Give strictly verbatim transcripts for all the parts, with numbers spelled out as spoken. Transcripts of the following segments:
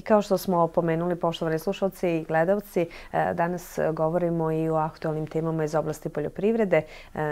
kao što smo pomenuli, poštovani slušalci i gledalci, danas govorimo i o aktualnim temama iz oblasti poljoprivrede.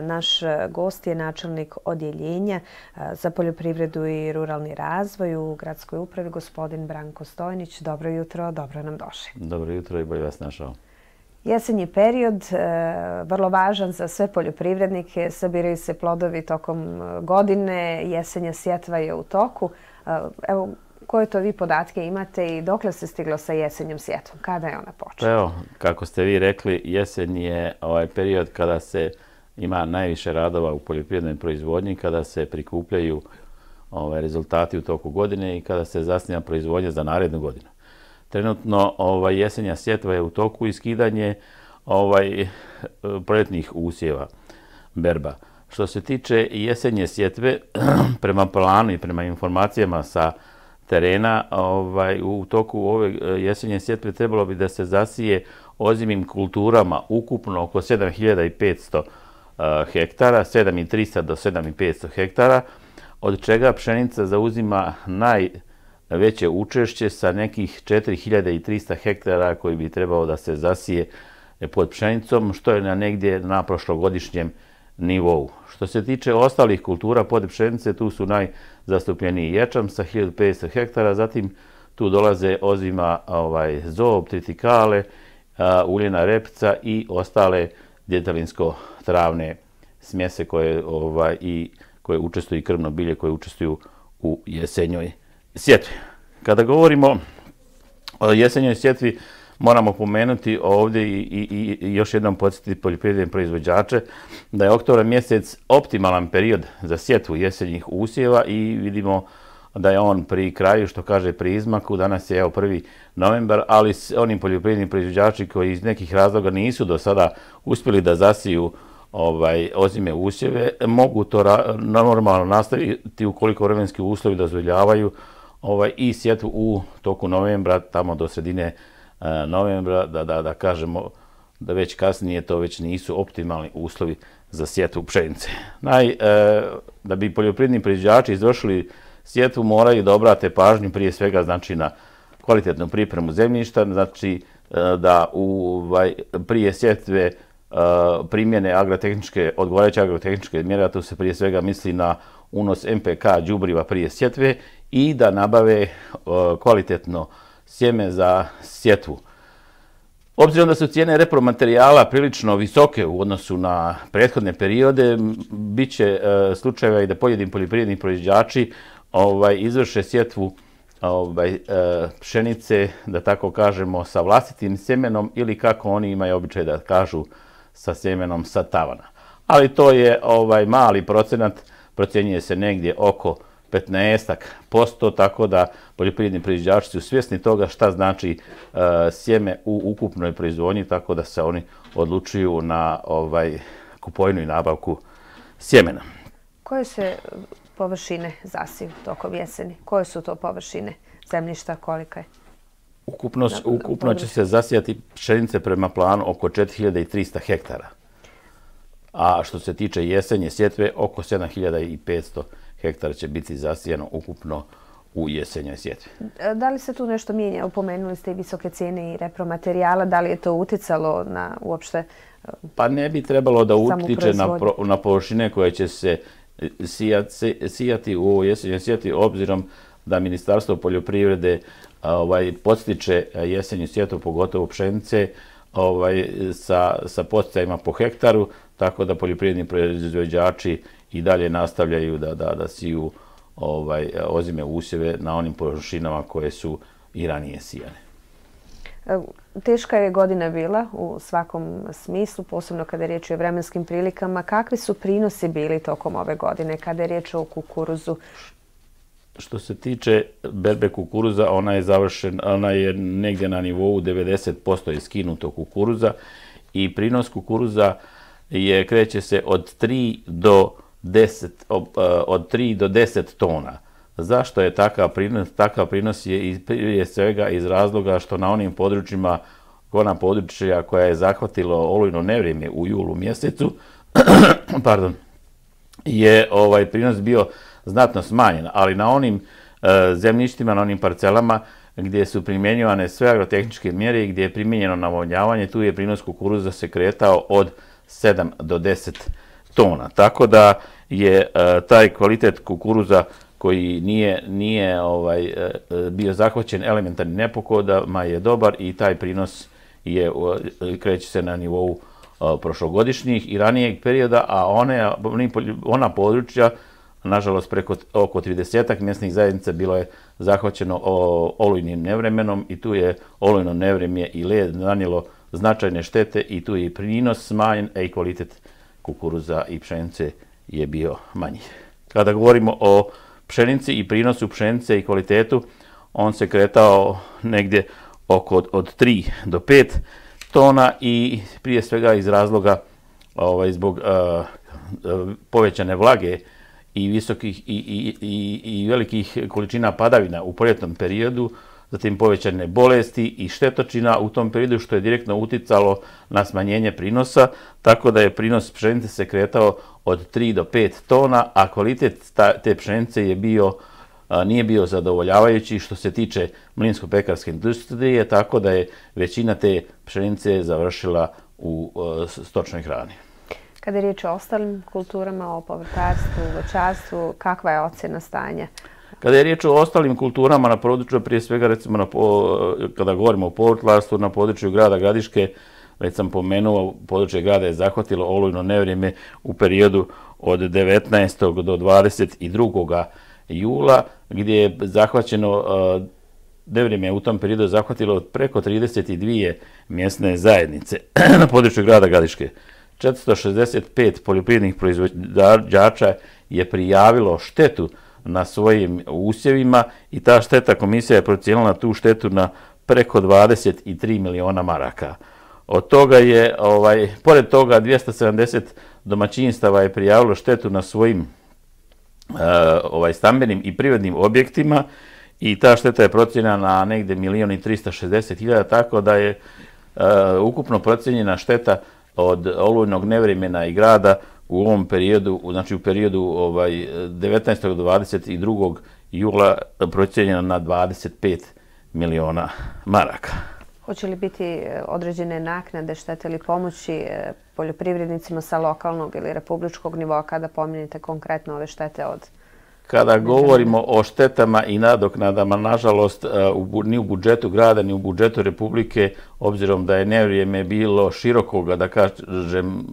Naš gost je načelnik odjeljenja za poljoprivredu i ruralni razvoj u gradskoj upravi, gospodin Branko Stojnić. Dobro jutro, dobro nam došli. Dobro jutro i bolje vas našao. Jesenji period, vrlo važan za sve poljoprivrednike, sabiraju se plodovi tokom godine, jesenja sjetva je u toku. Evo, koje to vi podatke imate i dokle se stiglo sa jesenjom sjetvom? Kada je ona počela? Evo, kako ste vi rekli, jesen je ovaj period kada se ima najviše radova u poljoprivrednoj proizvodnji, kada se prikupljaju ovaj, rezultati u toku godine i kada se zasniva proizvodnja za narednu godinu. Trenutno ovaj, jesenja sjetva je u toku i skidanje ovaj, proljetnih usjeva, berba. Što se tiče jesenje sjetve, prema planu i prema informacijama sa terena, ovaj, u toku ove jesenje sjetve trebalo bi da se zasije ozimim kulturama ukupno oko sedam hiljada petsto uh, hektara, sedam hiljada trista do sedam hiljada petsto hektara, od čega pšenica zauzima najveće učešće sa nekih četiri hiljade trista hektara koji bi trebalo da se zasije pod pšenicom, što je na negdje na prošlogodišnjem nivou. Što se tiče ostalih kultura pod pšenice, tu su najzastupljeniji ječam sa hiljadu petsto hektara, zatim tu dolaze ozima ovaj, zob, tritikale, a, uljena repca i ostale djetelinsko-travne smjese koje, ovaj, i, koje učestvuju i krvno bilje koje učestvuju u jesenjoj sjetvi. Kada govorimo o jesenjoj sjetvi, moramo pomenuti ovdje i, i, i još jednom podsjetiti poljoprivredne proizvođače da je oktobar mjesec optimalan period za sjetvu jesenjih usjeva i vidimo da je on pri kraju, što kaže pri izmaku. Danas je evo prvi novembar, ali onim poljoprivrednim proizvođači koji iz nekih razloga nisu do sada uspjeli da zasiju ovaj, ozime usjeve, mogu to ra normalno nastaviti ukoliko vremenski uslovi dozvoljavaju ovaj, i sjetvu u toku novembra, tamo do sredine novembra, da, da, da kažemo da već kasnije to već nisu optimalni uslovi za sjetvu pšenice. Naj, e, da bi poljoprivredni proizvođači izvršili sjetvu, moraju da obrate pažnju prije svega znači na kvalitetnu pripremu zemljišta, znači e, da u, ovaj, prije sjetve e, primjene agrotehničke, odgovarajuće agrotehničke mjere, tu se prije svega misli na unos em pe ka đubriva prije sjetve i da nabave e, kvalitetno sjeme za sjetvu. Obzirom da su cijene repromaterijala prilično visoke u odnosu na prethodne periode, bit će e, slučajeva i da pojedini poljoprivredni proizvođači ovaj, izvrše sjetvu ovaj, e, pšenice, da tako kažemo, sa vlastitim sjemenom ili kako oni imaju običaj da kažu sa sjemenom sa tavana. Ali to je ovaj, mali procenat, procjenjuje se negdje oko petnaest posto, tako da poljoprivredni proizvođači su svjesni toga šta znači e, sjeme u ukupnoj proizvodnji, tako da se oni odlučuju na ovaj, kupovinu i nabavku sjemena. Koje se površine zasiju tokom jeseni? Koje su to površine zemljišta, kolika je? Ukupno, na, ukupno će se zasijati pšenice prema planu oko četiri hiljade trista hektara. A što se tiče jesenje sjetve, oko sedam hiljada petsto hektara će biti zasijano ukupno u jesenjoj sjetvi. Da li se tu nešto mijenja? Upomenuli ste i visoke cijene i repromaterijala. Da li je to uticalo na uopšte Pa ne bi trebalo da utiče na, pro, na površine koje će se sijati, sijati u ovoj jesenjoj sjetvi, obzirom da Ministarstvo poljoprivrede ovaj, podstiče jesenju sjetvu, pogotovo pšenice, ovaj, sa, sa podsticajima po hektaru, tako da poljoprivredni proizvođači i dalje nastavljaju da, da, da siju ovaj, ozime usjeve na onim površinama koje su i ranije sijane. Teška je godina bila u svakom smislu, posebno kada je riječ o vremenskim prilikama. Kakvi su prinosi bili tokom ove godine kada je riječ o kukuruzu? Što se tiče berbe kukuruza, ona je završena, ona je negdje na nivou devedeset posto je skinuto kukuruza i prinos kukuruza je, kreće se od tri do deset, od tri do deset tona. Zašto je takav prinos? Takav prinos je prije svega iz razloga što na onim područjima, ona područja koja je zahvatilo olujno nevrijeme u julu mjesecu, pardon, je ovaj prinos bio znatno smanjen, ali na onim e, zemljištima, na onim parcelama gdje su primjenjivane sve agrotehničke mjere i gdje je primijenjeno navodnjavanje, tu je prinos kukuruza se kretao od sedam do deset tona. Tako da je taj kvalitet kukuruza koji nije, nije ovaj, bio zahvaćen elementarnim nepogodama je dobar i taj prinos je, kreće se na nivou prošlogodišnjih i ranijeg perioda, a one, ona područja, nažalost, preko oko tridesetak mjesnih zajednica bilo je zahvaćeno olujnim nevremenom i tu je olujno nevremje i led nanijelo značajne štete i tu je i prinos smanjen, a i kvalitet kukuruza i pšenice je bio manji. Kada govorimo o pšenici i prinosu pšenice i kvalitetu, on se kretao negdje oko od tri do pet tona i prije svega iz razloga ovaj, zbog uh, povećane vlage i visokih i, i, i, i velikih količina padavina u proljetnom periodu, zatim povećane bolesti i štetočina u tom periodu što je direktno uticalo na smanjenje prinosa, tako da je prinos pšenice se kretao od tri do pet tona, a kvalitet te pšenice je bio, nije bio zadovoljavajući što se tiče mlinsko-pekarske industrije, tako da je većina te pšenice završila u stočnoj hrani. Kada je riječ o ostalim kulturama, o povrtarstvu, voćarstvu, kakva je ocjena stanja? Kada je riječ o ostalim kulturama na području, prije svega recimo na, kada govorimo o povrtlarstvu, na području grada Gradiške, već sam pomenuo, područje grada je zahvatilo olujno nevrijeme u periodu od devetnaestog do dvadeset drugog jula, gdje je zahvaćeno, nevrijeme u tom periodu zahvatilo preko trideset dvije mjesne zajednice na području grada Gradiške. četiristo šezdeset pet poljoprivrednih proizvođača je prijavilo štetu na svojim usjevima i ta šteta, komisija je procijenila tu štetu na preko dvadeset tri miliona maraka. Od toga je, ovaj, pored toga, dvjesto sedamdeset domaćinstava je prijavilo štetu na svojim uh, ovaj, stambenim i privrednim objektima i ta šteta je procijenjena na negdje milion i tristo šezdeset hiljada, tako da je uh, ukupno procijenjena šteta od olujnog nevremena i grada u ovom periodu, znači u periodu ovaj, devetnaestog do dvadeset drugog jula procijenjena na dvadeset pet miliona maraka. Hoće li biti određene naknade, štete ili pomoći poljoprivrednicima sa lokalnog ili republičkog nivoa kada pominjete konkretno ove štete od... Kada govorimo o štetama i nadoknadama, nažalost, ni u budžetu grada, ni u budžetu Republike, obzirom da je nevrijeme bilo širokoga, da kažem,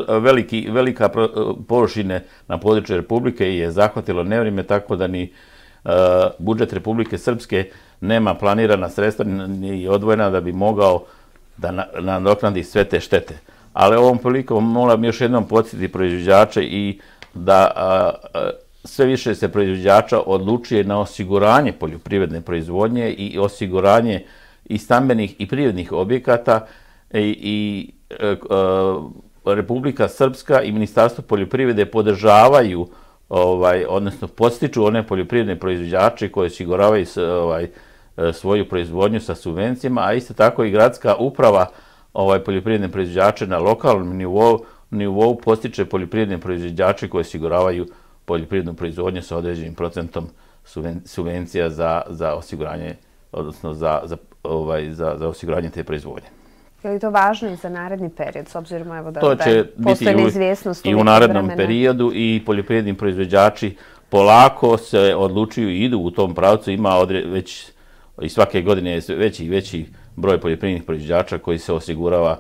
veliki, velika površine na području Republike je zahvatilo nevrijeme, tako da ni budžet Republike Srpske nema planirana sredstva ni odvojena da bi mogao da nadoknadi sve te štete. Ali ovom prilikom moram još jednom podsjetiti proizvođače i da a, a, sve više se proizvođača odlučuje na osiguranje poljoprivredne proizvodnje i osiguranje i stambenih i privrednih objekata i, i a, a, Republika Srpska i Ministarstvo poljoprivrede podržavaju, ovaj, odnosno podstiču one poljoprivredne proizvođače koji osiguravaju ovaj, svoju proizvodnju sa subvencijama, a isto tako i gradska uprava ovaj, poljoprivredne proizvođače na lokalnom nivou nivou postiče poljoprivredne proizvođače koji osiguravaju poljoprivrednu proizvodnju sa određenim procentom subvencija za, za osiguranje, odnosno za, za, ovaj, za, za osiguranje te proizvodnje. Je li to važno i za naredni period, s obzirom evo da, to će da postoji neizvjesnost i u narednom vremena. Periodu i poljoprivredni proizvođači polako se odlučuju i idu u tom pravcu, ima odre, već i svake godine je veći i veći broj poljoprivrednih proizvođača koji se osigurava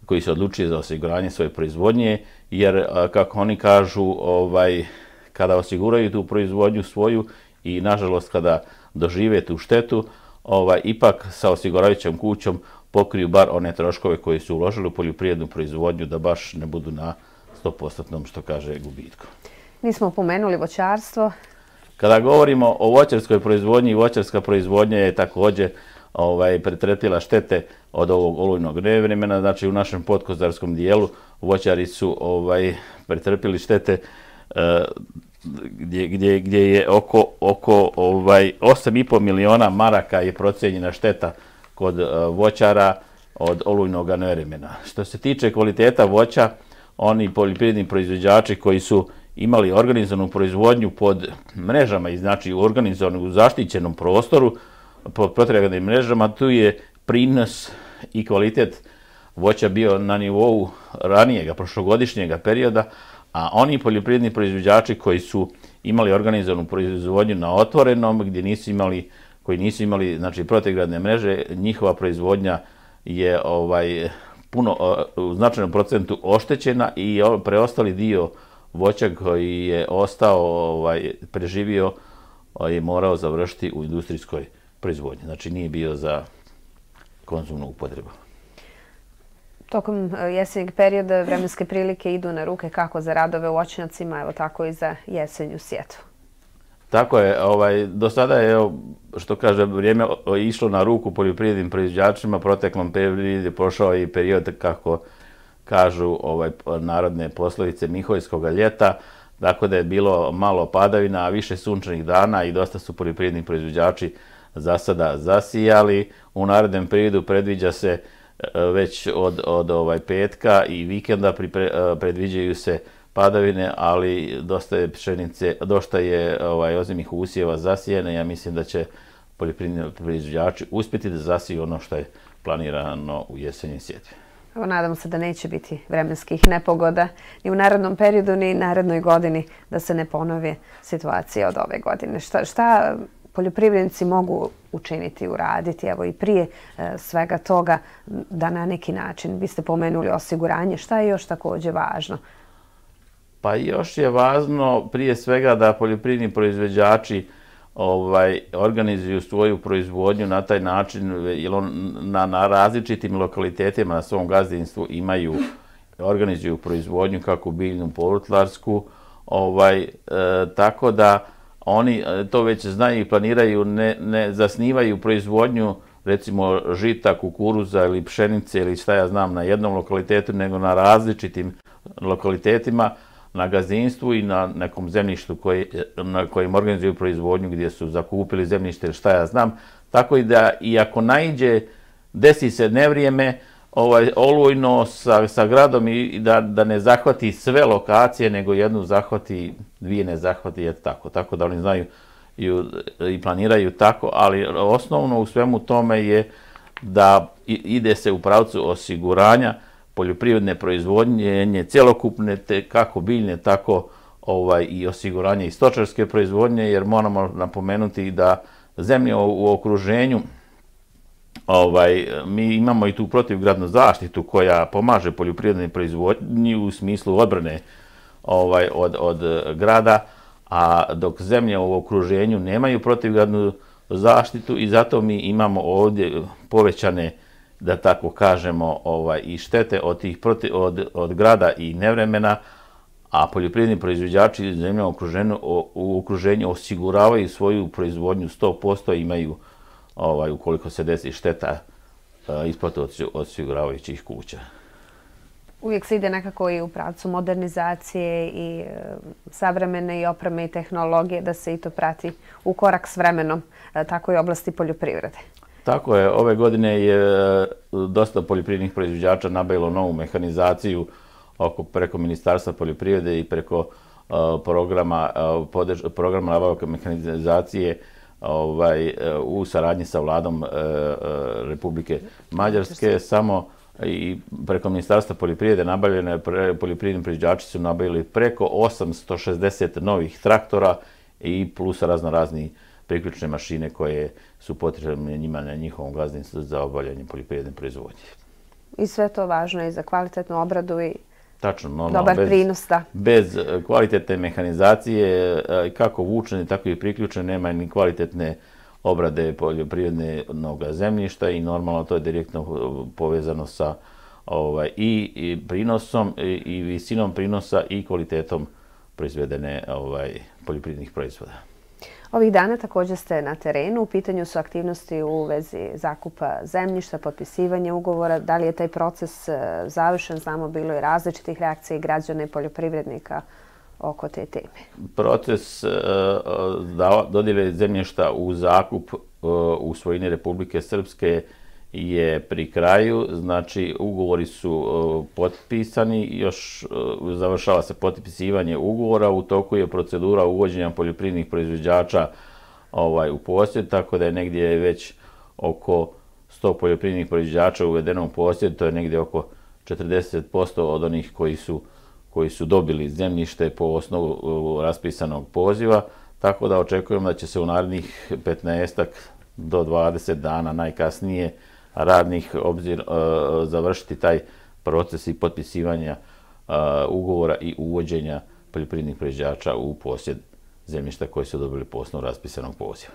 koji se odlučuje za osiguranje svoje proizvodnje, jer, kako oni kažu, ovaj, kada osiguraju tu proizvodnju svoju i, nažalost, kada dožive tu štetu, ovaj, ipak sa osiguravajućom kućom pokriju bar one troškove koji su uložili u poljoprivrednu proizvodnju, da baš ne budu na sto posto, što kaže, gubitku. Nismo pomenuli voćarstvo. Kada govorimo o voćarskoj proizvodnji, voćarska proizvodnja je također ovaj, pretrpjela štete od ovog olujnog nevremena. Znači, u našem podkozarskom dijelu voćari su ovaj, pretrpjeli štete uh, gdje, gdje, gdje je oko, oko ovaj, osam i pol miliona maraka je procijenjena šteta kod uh, voćara od olujnog nevremena. Što se tiče kvaliteta voća, oni poljoprivredni proizvođači koji su imali organizovanu proizvodnju pod mrežama i znači organizovanu u zaštićenom prostoru, pod protraganim mrežama, tu je prinos i kvalitet voća bio na nivou ranijega, prošlogodišnjega perioda, a oni poljoprivredni proizvođači koji su imali organizovanu proizvodnju na otvorenom, gdje nisu imali, koji nisu imali znači, protegradne mreže, njihova proizvodnja je ovaj, puno, u značajnom procentu oštećena i preostali dio voća koji je ostao, ovaj, preživio, je morao završiti u industrijskoj proizvodnji. Znači nije bio za konzumnu upotrebu. Tokom jesenjeg perioda vremenske prilike idu na ruke kako za radove u voćnjacima, evo tako i za jesenju sjetvu. Tako je. Ovaj, do sada je, evo, što kaže, vrijeme išlo na ruku poljoprivrednim proizvođačima, proteklom periodu je prošao i period, kako kažu ovaj, narodne poslovice, Mihojskoga ljeta, tako da je bilo malo padavina, a više sunčanih dana i dosta su poljoprivredni proizvođači za sada zasijali. U narednom periodu predviđa se već od, od ovaj, petka i vikenda pripre, predviđaju se padavine, ali dosta je pšenice, dosta je ovaj, ozimih usjeva zasijene. Ja mislim da će poljoprivredni proizvođači uspjeti da zasiju ono što je planirano u jesenjoj sjetvi. Evo, nadamo se da neće biti vremenskih nepogoda ni u narednom periodu, ni u narednoj godini, da se ne ponovi situacija od ove godine. Šta, šta poljoprivrednici mogu učiniti, uraditi, evo i prije e, svega toga, da na neki način, vi ste pomenuli osiguranje, šta je još također važno? Pa još je važno prije svega da poljoprivredni proizvođači ovaj, organizuju svoju proizvodnju na taj način, jer on na, na različitim lokalitetima na svom gazdinstvu imaju, organizuju proizvodnju kako biljnu, povrtlarsku, ovaj, e, tako da oni to već znaju i planiraju, ne, ne zasnivaju proizvodnju recimo žita, kukuruza ili pšenice ili šta ja znam na jednom lokalitetu, nego na različitim lokalitetima, na gazdinstvu i na nekom zemljištu koji, na kojem organizuju proizvodnju gdje su zakupili zemljište ili šta ja znam. Tako i da i ako naiđe, desi se nevrijeme, ovaj, olujno sa, sa gradom i da, da ne zahvati sve lokacije, nego jednu zahvati, dvije ne zahvati, je tako. Tako da oni znaju i, i planiraju tako, ali osnovno u svemu tome je da ide se u pravcu osiguranja poljoprivredne proizvodnje, cjelokupne, te kako biljne, tako ovaj, i osiguranje i stočarske proizvodnje, jer moramo napomenuti da zemlje u, u okruženju, ovaj, mi imamo i tu protivgradnu zaštitu koja pomaže poljoprivrednoj proizvodnji u smislu odbrane ovaj, od, od grada, a dok zemlje u okruženju nemaju protivgradnu zaštitu i zato mi imamo ovdje povećane, da tako kažemo, ovaj, i štete od, tih protiv, od, od grada i nevremena, a poljoprivredni proizvođači zemlje u okruženju, u okruženju osiguravaju svoju proizvodnju sto posto, imaju, ovaj, ukoliko se desi šteta, isplatu od osiguravajućih kuća. Uvijek se ide nekako i u pravcu modernizacije i e, savremene i opreme i tehnologije, da se i to prati u korak s vremenom, e, tako i oblasti poljoprivrede. Tako je, ove godine je dosta poljoprivrednih proizvođača nabavilo novu mehanizaciju oko, preko Ministarstva poljoprivrede i preko uh, programa, uh, podrž, programa nabavke mehanizacije ovaj, uh, u saradnji sa vladom uh, uh, Republike Mađarske. Samo i preko Ministarstva poljoprivrede nabavljene, pre, poljoprivredni proizvođači su nabavili preko osamsto šezdeset novih traktora i plus razno razni priključne mašine koje su potrebne njima na njihovom gazdinstvu za obavljanje poljoprivredne proizvodnje. I sve to važno i za kvalitetnu obradu i Tačno, no, dobar bez, prinos. Da. Bez kvalitetne mehanizacije, kako vučene, tako i priključene, nema ni kvalitetne obrade poljoprivrednog zemljišta i normalno to je direktno povezano sa ovaj, i, i prinosom i, i visinom prinosa i kvalitetom proizvedene ovaj, poljoprivrednih proizvoda. Ovih dana također ste na terenu. U pitanju su aktivnosti u vezi zakupa zemljišta, potpisivanja ugovora. Da li je taj proces završen? Znamo, bilo je različitih reakcija i građana i poljoprivrednika oko te teme. Proces dodjele zemljišta u zakup u svojini Republike Srpske je pri kraju, znači ugovori su potpisani, još završava se potpisivanje ugovora, u toku je procedura uvođenja poljoprivrednih proizvođača u posjed, tako da je negdje već oko sto poljoprivrednih proizvođača uvedeno u posjed, to je negdje oko četrdeset posto od onih koji su, koji su dobili zemljište po osnovu raspisanog poziva, tako da očekujemo da će se u narednih petnaestak do dvadeset dana najkasnije radnih obzir završiti taj proces i potpisivanja ugovora i uvođenja poljoprivrednih proizvođača u posjed zemljišta koji su dobili po osnovu raspisanog poziva.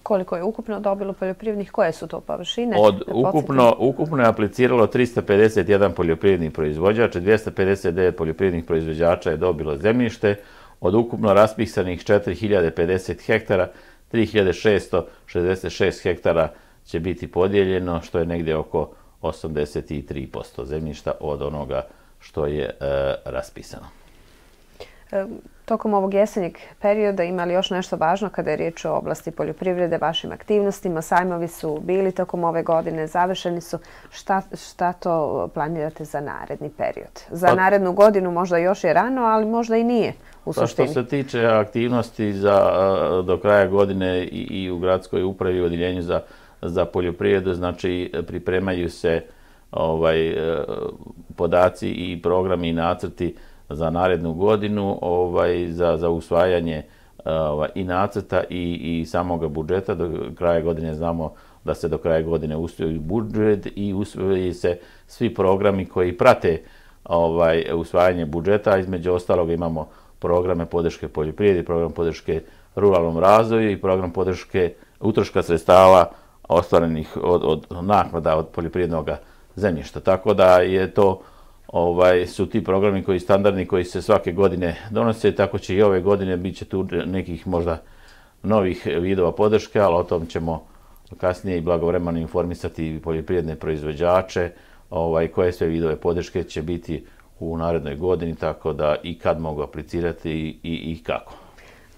Koliko je ukupno dobilo poljoprivrednih? Koje su to površine? Od, ukupno, ukupno je apliciralo tristo pedeset jedan poljoprivrednih proizvođača, dvjesto pedeset devet poljoprivrednih proizvođača je dobilo zemljište. Od ukupno raspisanih četiri hiljade pedeset hektara, tri hiljade šesto šezdeset šest hektara će biti podijeljeno, što je negdje oko osamdeset tri posto zemljišta od onoga što je e, raspisano. E, tokom ovog jesenjeg perioda ima li još nešto važno kada je riječ o oblasti poljoprivrede, vašim aktivnostima? Sajmovi su bili tokom ove godine, završeni su. Šta, šta to planirate za naredni period? Za pa, narednu godinu možda još je rano, ali možda i nije u suštini. Pa što se tiče aktivnosti za, do kraja godine i, i u gradskoj upravi i odjeljenju za za poljoprivredu, znači pripremaju se ovaj, podaci i programi i nacrti za narednu godinu ovaj, za, za usvajanje ovaj, i nacrta i, i samoga budžeta. Do kraja godine znamo da se do kraja godine usvoji budžet i usvoji se svi programi koji prate ovaj, usvajanje budžeta. Između ostalog imamo programe podrške poljoprivredi, program podrške ruralnom razvoju i program podrške utroška sredstava ostvarenih od, od naknada od poljoprivrednog zemljišta. Tako da je to, ovaj, su ti programi koji standardni koji se svake godine donose, tako će i ove godine bit će tu nekih možda novih vidova podrške, ali o tom ćemo kasnije i blagovremeno informisati poljoprivredne proizvođače ovaj, koje sve vidove podrške će biti u narednoj godini, tako da i kad mogu aplicirati i, i, i kako.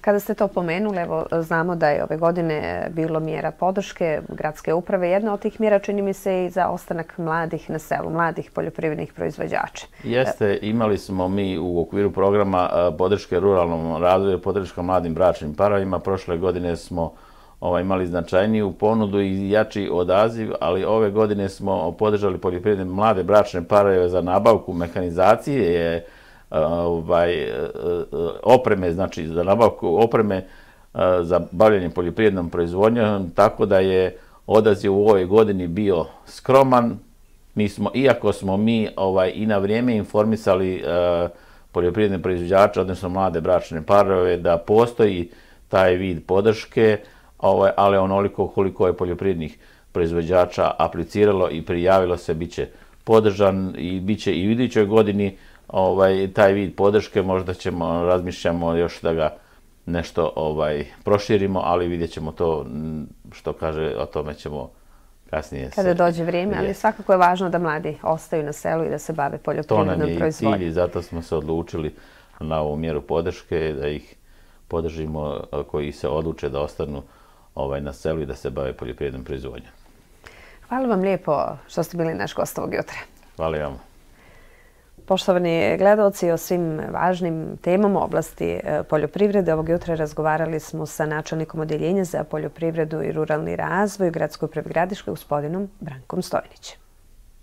Kada ste to pomenuli, evo, znamo da je ove godine bilo mjera podrške gradske uprave. Jedna od tih mjera čini mi se i za ostanak mladih na selu, mladih poljoprivrednih proizvođača. Jeste, imali smo mi u okviru programa podrške ruralnom razvoju, podrška mladim bračnim parovima. Prošle godine smo ovaj, imali značajniju ponudu i jači odaziv, ali ove godine smo podržali poljoprivredne mlade bračne parove za nabavku mehanizacije, ovaj, opreme, znači za nabavku opreme za bavljanje poljoprivrednom proizvodnjom, tako da je odaziv u ovoj godini bio skroman. Mi smo, iako smo mi ovaj, i na vrijeme informisali uh, poljoprivredne proizvođače, odnosno mlade bračne parove, da postoji taj vid podrške, ovaj, ali onoliko koliko je poljoprivrednih proizvođača apliciralo i prijavilo se, bit će podržan i bit će i u idućoj godini ovaj, taj vid podrške. Možda ćemo, razmišljamo još da ga nešto ovaj, proširimo, ali vidjet ćemo to, što kaže, o tome ćemo kasnije. Kada dođe vrijeme, ali svakako je važno da mladi ostaju na selu i da se bave poljoprivrednom proizvodnjom. To nam je i cilj i zato smo se odlučili na ovu mjeru podrške, da ih podržimo koji se odluče da ostanu ovaj, na selu i da se bave poljoprivrednom proizvodnjom. Hvala vam lijepo što ste bili naš gost ovog jutra. Hvala vam. Poštovani gledalci, o svim važnim temama u oblasti poljoprivrede ovog jutra razgovarali smo sa načelnikom odjeljenja za poljoprivredu i ruralni razvoj u Gradskoj upravi Gradiške, gospodinom Brankom Stojnićem.